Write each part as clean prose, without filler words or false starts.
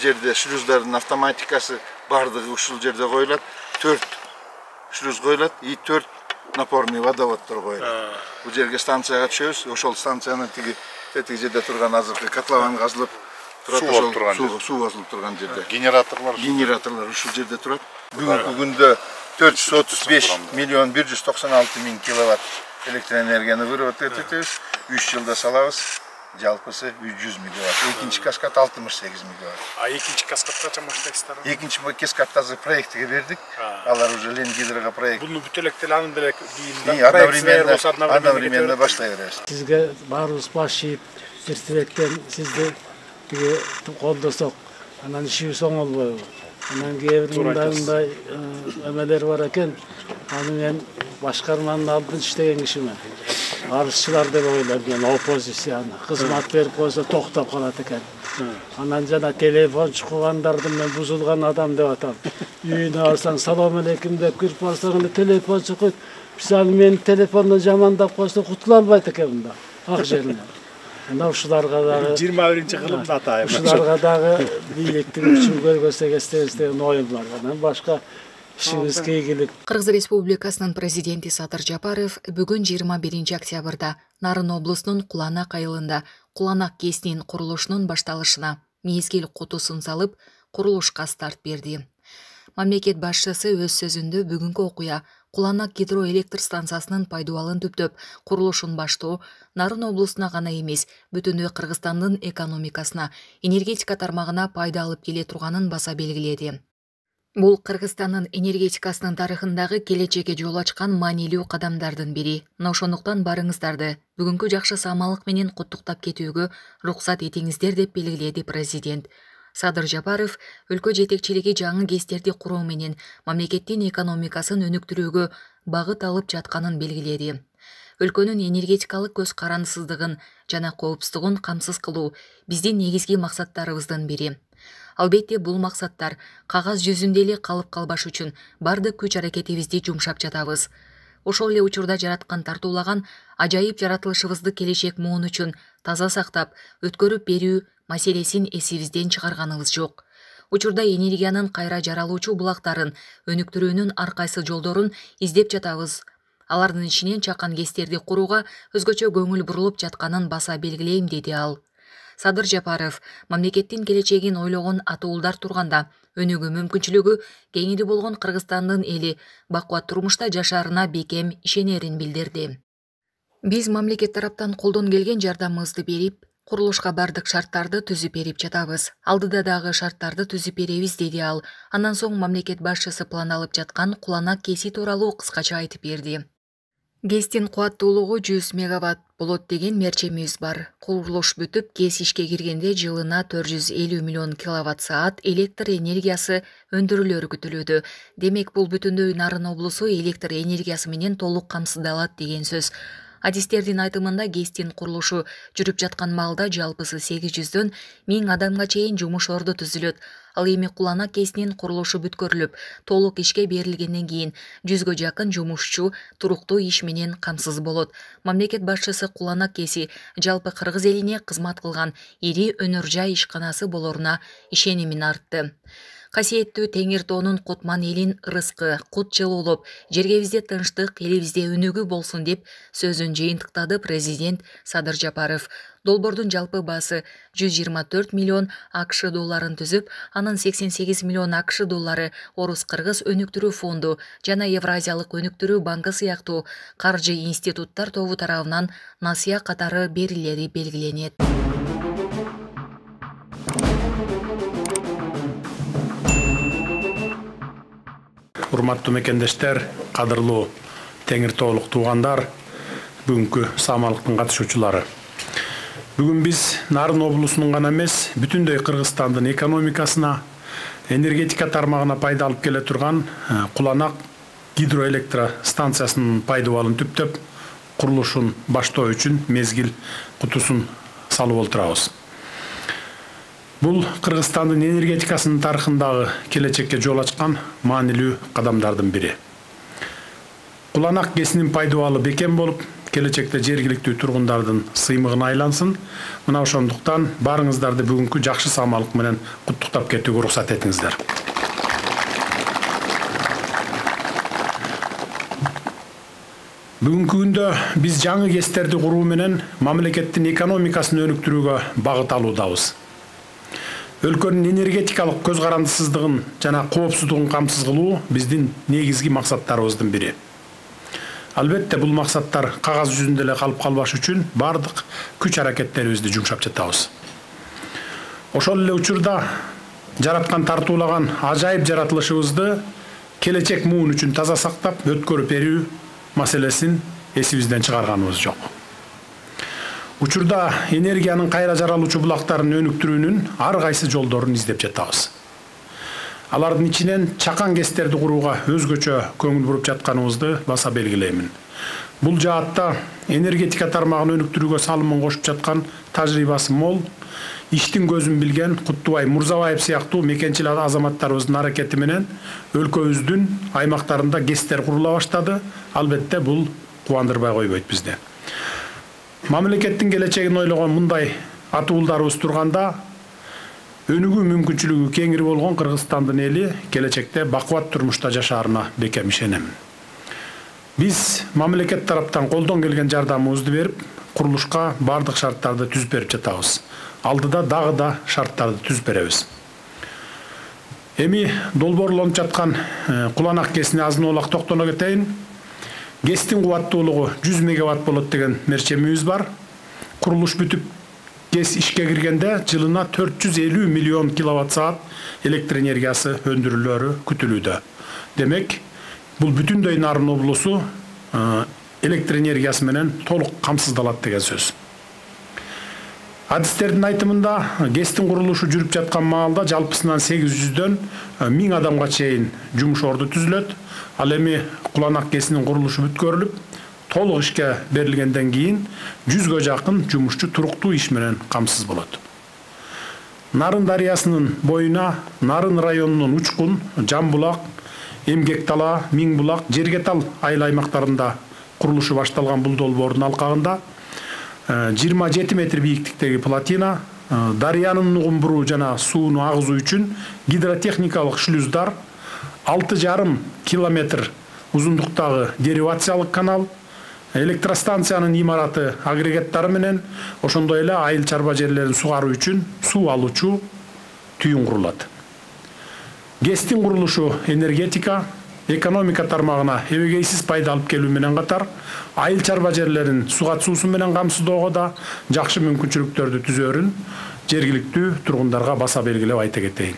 жерде шлюздардын автоматикасы бардыгы ушул жерде коюлат. 4 шлюз коюлат и 4 напорный водоводдор коюлат. Бул жерге станцияга түшөбүз. Ошол станциянын тиги жерде турган азыркы котлован казылып турат, суу басылып турган жерде. Генераторлор ушул жерде турат. Бүгүнкү күндө 435 миллион 196 миң киловатт электроэнергияны выработ этебиз. 3 жылда салабыз. Жалпысы 100 мегаватт. Экинчи каскад 68 мегаватт. А экинчи каскадга качан баштайсыздар? Экинчи каскадты азыр проектке бердик. Алар уже Ленгидрога проект. Буну бүт электр анын деле кийин одновременно баштай беребиз. Сизге баарыбыз баш ийип, эртебектен сизди колдосок, анан ишибиз оңолбойбу. Анан кээ бир мындай эмелер бар экен. Аны мен башкарманын алдын иштеген кишимен. Арызчылар деп ойлойм, мен оппозицияны. Кызмат берип койсо токтоп калат экен. Анан жана телефон чукугандарды мен бузулган адам деп атам. Үйүнө барсаң салам алейкум деп кирип барсаң телефон чукут. Биз аны менин телефондон жамандап койсо кутула албайт экен мында. Ак жеринен. Анда ушуларга дагы 21-кылымда атайм. Ушуларга дагы бийликтин күчүн көргөзсөк эстебиз деген оюм бар. Анан башка ишибизге ийгилик. Кыргыз Республикасынын президенти Садыр Жапаров бүгүн 21 октябрда Нарын облусунун Куланак айылында Куланак КЭСинин курулушунун башталышына мезгил кутусун салып, курулушка старт берди. Мамлекет башчысы өз сөзүндө бүгүнкү окуя Куланак гидроэлектр станциясынын пайдубалын түптөп, курулушун баштоо Нарын облусуна гана эмес, бүтүндөй Кыргызстандын экономикасына, энергетика тармагына пайда алып келе турганын баса белгиледи. Бул Кыргызстандын энергетикасынын тарыхындагы келечекке жол ачкан маанилүү кадамдардын бири. Ошондуктан барыңыздарды бүгүнкү жакшы самалык менен куттуктап кетүүгө уруксат этиңиздер деп белгиледи президент. Садыр Жапаров өлкө жетекчилиги жаңы КЭСтерди куруу менен мамлекеттин экономикасын өнүктүрүүгө багыт алып жатканын белгиледи. Өлкөнүн энергетикалык көз карандысыздыгын жана коопсуздугун камсыз кылуу биздин негизги максаттарыбыздын бири. Албетте бул максаттар кагаз жүзүндө эле калып калбаш үчүн бардык күч аракетибизди жумшап жатабыз. Ошол эле учурда жараткан тартуулаган ажайып жаратылышыбызды келечек муун үчүн таза сактап, өткөрүп берүү маселесин эсибизден чыгарганыбыз жок. Учурда энергиянын кайра жаралуучу булактарын өнүктүрүүнүн ар кайсы жолдорун издеп жатабыз. Алардын ичинен чакан КЭСтерди курууга өзгөчө көңүл бурулуп жатканын баса белгилейм, деди ал. Садыр Жапаров мамлекеттин келечегин ойлогон атуулдар турганда өнүгүү мүмкүнчүлүгү кеңири болгон Кыргызстандын эли бакубат турмушта жашаарына бекем ишенерин билдирди. Биз мамлекет тараптан колдон келген жардамыбызды берип, курулушка бардык шарттарды түзүп берип жатабыз. Алдыда дагы шарттарды түзүп беребиз, деди ал. Андан соң мамлекет башчысы план алып жаткан Куланак КЭСи тууралуу кыскача айтып берди. КЭСтин кубаттуулугу 100 мегаватт болот деген мерчемибиз бар. Курулуш бүтүп, КЭС ишке киргенде жылына 450 миллион киловатт-саат электр энергиясы өндүрүлөрү күтүлүүдө. Демек, бул бүтүндөй Нарын облусу электр энергиясы менен толук камсыздалат деген сөз. Адистердин айтымында КЭСтин курулушу жүрүп жаткан маалда жалпысы 800дөн 1000 адамга чейин жумуш орду түзүлөт. Ал эми Куланак КЭСинин курулушу бүткөрүлүп, толук ишке берилгенден кийин 100гө жакын жумушчу туруктуу иш менен камсыз болот. Мамлекет башчысы Куланак КЭСи жалпы Кыргыз элине кызмат кылган ири өнөр жай ишканасы болоруна ишенимин артты. Касиеттүү Теңир тоонун Кутман элин ырыскы, кут жылуулуп, жергебизде тынчтык, элибизде өнүгүү болсун деп сөзүн жыйынтыктады президент Садыр Жапаров. Долбоордун жалпы баасы 124 миллион АКШ долларын түзүп, анын 88 миллион АКШ доллары Орус-Кыргыз өнүктүрүү фонду жана Евразиялык өнүктүрүү банкы сыяктуу каржы институттар тобу тарабынан насыя катары берилери белгиленет. Урматтуу мекендештер, кадырлуу Теңир тоолук туугандар, бүгүнкү самалыктын катышуучулары. Бүгүн биз Нарын облусунун гана эмес, бүтүндөй Кыргызстандын экономикасына, энергетика тармагына пайда алып келе турган Куланак гидроэлектро станциясынын пайдубалын түптөп, курулушун баштоо үчүн мезгил кутусун салып отурабыз. Бул Кыргызстандын энергетикасынын тарыхындагы келечекке жол ачкан маанилүү кадамдардын бири. Куланак КЭСинин пайдубалы бекем болуп, келечекте жергиликтүү тургундардын сыймыгына айлансын. Мына ошондуктан баарыңыздарды бүгүнкү жакшы самалык менен куттуктап кетүүгө уруксат этиңиздер. Бүгүнкү күндө биз жаңы КЭСтерди куруу менен мамлекеттин экономикасын өнүктүрүүгө багыт алуудабыз. Өлкөнүн энергетикалык көз карандысыздыгын жана коопсуздугун камсыз кылуу биздин негизги максаттарыбыздын бири. Албетте бул максаттар кагаз жүзүндө эле калып калбаш үчүн бардык күч аракеттерибизди жумшап жатабыз. Ошол эле учурда жараткан тартуулаган ажайып жаратылышыбызды келечек муун үчүн таза сактап өткөрүп берүү маселесин эсибизден чыгарганыбыз жок. Учурда энергиянын кайра жаралуучу булактарын өнүктүрүүнүн ар кайсы жолдорун издеп жатабыз. Алардын ичинен чакан КЭСтерди курууга өзгөчө көңүл буруп жатканыбызды баса белгилеймин. Бул жаатта энергетика тармагын өнүктүрүүгө салымын кошуп жаткан тажрыйбасы мол, иштин көзүн билген Куттубай Мурзабаев сыяктуу мекенчил азаматтарыбыздын аракети менен өлкөбүздүн аймактарында КЭСтер курула баштады. Албетте бул кубандырбай койбойт бизди. Мамлекеттин келечегин ойлогон мындай атуулдарыбыз турганда, өнүгүү мүмкүнчүлүгү кеңири болгон Кыргызстандын эли келечекте бакубат турмушта жашаарына бекем ишенем. Биз мамлекет тараптан колдон келген жардамыбызды берип, курулушка бардык шарттарды түзүп берип жатабыз. Алдыда дагы да шарттарды түзүп беребиз. Эми долбоорлонуп жаткан Куланак КЭСине азын оолак токтоно кетейин. КЭСтин кубаттуулугу 100 мегаватт болот деген мерчемибиз бар. Курулуш бүтүп КЭС ишке киргенде жылына 450 миллион киловатт саат электр энергиясы өндүрүлөөрү күтүлүүдө. Демек, бул бүтүндөй Нарын облусу электр энергиясы менен толук камсыздалат деген сөз. Адистердин айтымында КЭСтин курулушу жүрүп жаткан маалда жалпысынан 800дөн 1000 адамга чейин жумуш орду түзүлөт. Ал эми Куланак КЭСинин курулушу бүткөрүлүп, толук ишке берилгенден кийин 100гө жакын жумушчу туруктуу иш менен камсыз болот. Нарын дарыясынын боюна Нарын районунун Учкун, Жамбулак, Эмгектала, Миңбулак, Жергетал айыл аймактарында курулушу башталган бул долбоордун алкагында 27 метр бийиктиктеги плотина, дарыянын нугун буруу жана сууну агызуу үчүн гидротехникалык шлюздар, 6,5 километр узундуктагы деривациялык канал, электростанциянын имараты агрегаттары менен ошондой эле айыл чарба жерлерин сугаруу үчүн суу алуучу түйүн курулат. КЭСтин курулушу энергетика, экономика тармагына эбегейсиз пайда алып келүү менен катар, айыл чарба жерлерин сугат суусу менен камсыздоого да жакшы мүмкүнчүлүктөрдү түзөөрүн жергиликтүү тургундарга баса белгилеп айта кетейин.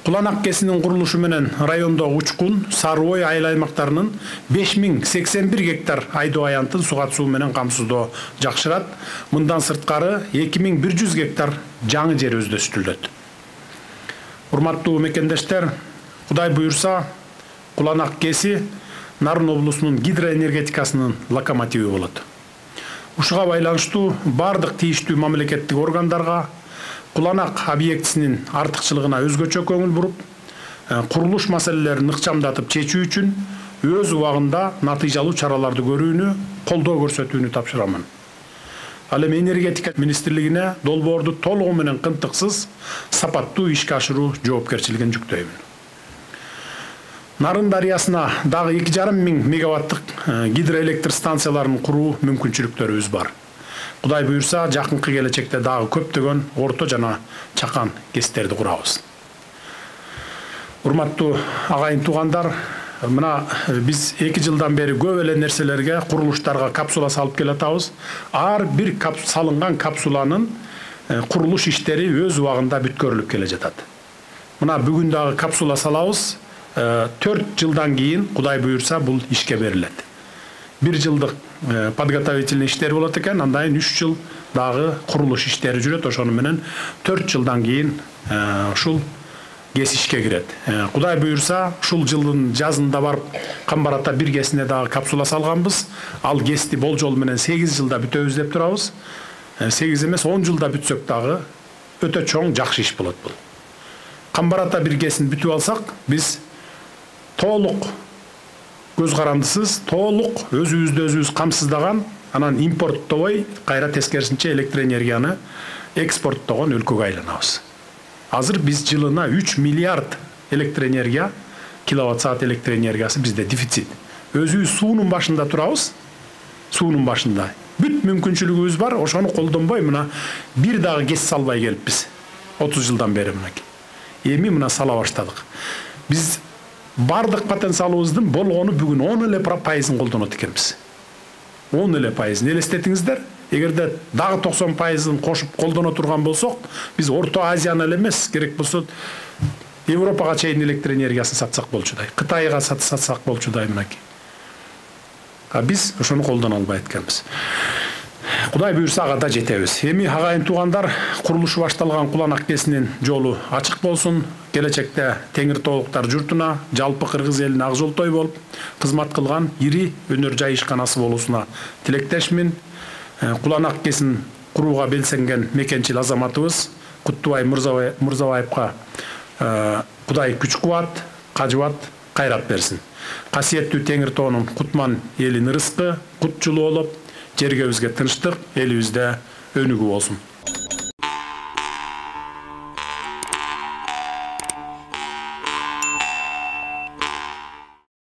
Куланак КЭСинин курулушу менен райондогу Учкун, Сары Ой айыл аймактарынын 5081 гектар айдоо аянтын сугат суу менен камсыздоо жакшырат. Мындан сырткары 2100 гектар жаңы жер өздөштүрүлөт. Урматтуу мекендештер, Кудай буюрса, Куланак КЭСи Нарын облусунун гидроэнергетикасынын локомотиви болот. Ушуга байланыштуу бардык тийиштүү мамлекеттик органдарга Куланак объектисинин артыкчылыгына өзгөчө көңүл буруп, курулуш маселелерин ыкчамдатып чечүү үчүн өз убагында натыйжалуу чараларды көрүүнү, колдоо көрсөтүүнү тапшырамын. Ал эми энергетика министрлигине долбоорду толугу менен кынтыксыз, сапаттуу ишке ашыруу жоопкерчилигин жүктөймүн. Нарын дарыясына дагы 2,5 мегаваттык гидроэлектр станцияларын куруу мүмкүнчүлүктөрүбүз бар. Кудай буюрса, жакынкы келечекте дагы көптөгөн орто жана чакан КЭСтерди курабыз. Урматтуу агайын туугандар, мына биз 2 жылдан бери көп эле нерселерге, курулуштарга капсула салып келатабыз. Ар бир салынган капсуланын курулуш иштери өз убагында бүткөрүлүп келе жатат. Мына бүгүн дагы капсула салабыз. 4 жылдан кийин Кудай буюрса бул ишке берилет. 1 жылдык подготовительный иштер болот экен, андан 3 жыл дагы курулуш иштери жүрөт. Ошону менен 4 жылдан кийин ушул КЭС ишке кирет. Кудай буюрса, ушул жылдын жазында барып Камбар ата 1 КЭСине дагы капсула салганбыз. Ал КЭСти болжол менен 8 жылда бүтөбүз деп турабыз. 8 эмес 10 жылда бүтсөк дагы өтө чоң жакшы иш болот бул. Камбар ата 1 КЭСин бүтүп алсак, биз толук көз карандысыз толук өзүбүз камсыздаган, анан импорттобой, кайра тескерисинче электр энергияны экспорттогон өлкөгө айланабыз. Азыр биз жылына 3 миллиард электр энергия, киловатт саат электр энергиясы бизде дефицит. Өзүбүз суунун башында турабыз. Суунун башында. Бүт мүмкүнчүлүгүбүз бар, ошону колдонбой мына бир дагы гез салбай келиппиз. 30 жылдан бери мынакей. Эми мына сала баштадык. Биз бардык потенциалыбыздын болгону бүгүн 10% колдонот экенбиз. 10%. Элестетиңиздер, эгерде дагы 90% кошуп колдоно турган болсок, биз Орто Азияны эле эмес, керек болсо Европага чейин электр энергиясын сатсак болчудай, Кытайга сатсак болчудай мынакей. Биз ошону колдоно албай эткенбиз. Кудай буюрса ага да жетебиз. Эми агайын туугандар, курулушу башталган Куланак КЭСинин жолу ачык болсун. Келечекте Теңир Тоолуктар журтуна, жалпы кыргыз элине ак жолтой болуп кызмат кылган ири өнөр жай ишканасы болуусуна тилектешмин. Куланак КЭСин курууга белсенген мекенчил азаматыбыз Куттубай Мырзабаевка Кудай күч кубат, кажыбат, кайрат берсин. Касиеттүү Теңир Тоонун кутман элин ырыскы, кут жылуу болуп, жергебизге тынчтык, элибизде өнүгүү болсун.